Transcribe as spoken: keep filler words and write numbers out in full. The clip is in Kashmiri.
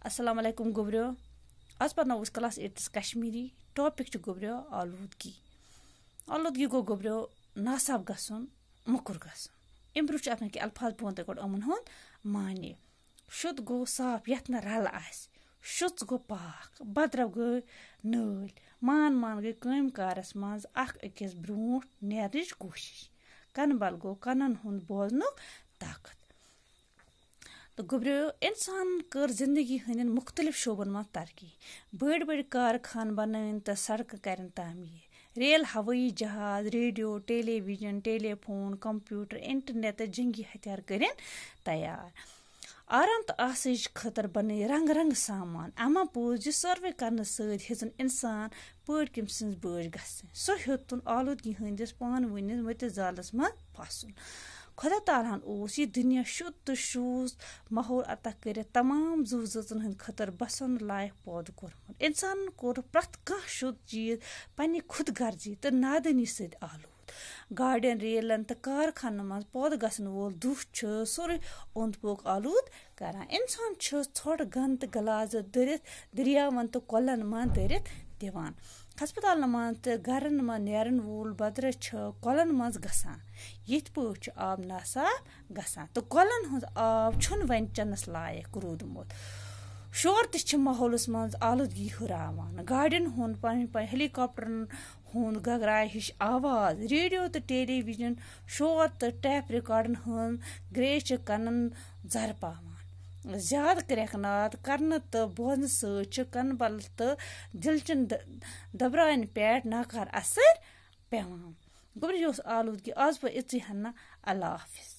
السلام علیکم گوٚبریو۔ آز پرناوو أسۍ کلاس ایٹتھس کشمیری۔ ٹاپک چھُ گوٚبریو آلودگی۔ آلودگی گوٚو گوٚبریو ناصاف گژھُن، موٚکُر گژھُن۔ اَمہِ برٛونٛہہ چھُ اَتھ منٛز کینٛہہ الفاظ، بہٕ وَنہٕ تۄہہِ گۄڈٕ یِمَن ہُنٛد معنی۔ شُد گوٚو صاف یَتھ نہٕ رَلہٕ آسہِ، شُژ گوٚو پاک، بدرو گٔے نٲلۍ، مان مان گٔے کٲمۍ کارَس منٛز اَکھ أکِس برٛونٛٹھ نیرنٕچ کوٗشِش، کَنہٕ بَل گوٚو کَنَن ہُنٛد بوزنُک طاقت۔ تہٕ گوٚبریو، اِنسان کٔر زِندگی ہٕنٛدٮ۪ن مُختٔلِف شعبَن منٛز ترقی۔ بٔڑۍ بٔڑۍ کارخانہٕ بنٲوِن تہٕ سڑکہٕ کَرن تعمیٖر۔ ریل، ہوٲیی جہاز، ریڈیو، ٹیلی ویژن، ٹیلی فون، کمپیوٹر، انٹرنیٹ تہٕ جنگی ہتھیار کٔرِن تیار۔ آرام تہٕ آسٲیِش خٲطرٕ بنٲوۍ رنگ رنگ سامان۔ اما پوٚز، یہِ سروے کرنہٕ سۭتۍ ہیٚژٕن اِنسان پٲٹھۍ کٔمۍ سٕنٛز بٲج گژھٕنۍ۔ سُہ ہیوٚتُن آلودگی ہٕنٛدِس پانہٕ ؤنِس مٔتِس زالس منٛز پھسُن۔ خۄدا تعالیٰ ہن اوس یہِ دُنیا شُد تہٕ شوٗژ ماحول عطا کٔرِتھ تمام زُو زٲژن ہٕنٛدِ خٲطرٕ بسن لایق پٲدٕ کوٚرمُت۔ اِنسانن کوٚر پرٛٮ۪تھ کانٛہہ شُد چیٖز پننہِ خود غرضی تہٕ نادٲنی سۭتۍ آلود۔ گاڑٮ۪ن، ریلن تہٕ کارخانن منٛز پٲدٕ گژھن وول دُہ چھُ سورُے اوٚنٛد پوٚک آلود کران۔ اِنسان چھُ ژھۄٹھ، گنٛد تہٕ غلازت دٔرِتھ دٔریاوَن تہٕ کۄلَن منٛز دٔرِتھ دِوان۔ ہسپتالَن منٛز تہٕ گَرَن منٛز نیرَن وول بدرٕ چھُ کۄلَن منٛز گژھان۔ یِتھ پٲٹھۍ چھُ آب ناصاف گژھان تہٕ کۄلَن ہُنٛد آب چھُنہٕ وۄنۍ چٮ۪نَس لایق روٗدمُت۔ شور تہِ چھِ ماحولَس منٛز آلودگی ہُراوان۔ گاڑٮ۪ن ہُنٛد پنٕنۍ پنٕنۍ ہیلی کاپٹرَن ہُنٛد گگراے ہِش آواز، ریڈیو تہٕ ٹیلی ویژن شور تہٕ ٹیپ ریکارڈن ہٕنٛز گریز چھِ کنن زر پاوان۔ زیادٕ کرٛٮ۪کھ ناد کرنہٕ تہٕ بوزنہٕ سۭتۍ چھِ کنہٕ بل تہٕ دِلچن د-، دبرانہِ پٮ۪ٹھ ناکار اثر پٮ۪وان۔ گوٚبرِ، یہِ اوس آلودگی۔ آز پٲٹھۍ اِژٕے ہنا۔ اللہ حافظ۔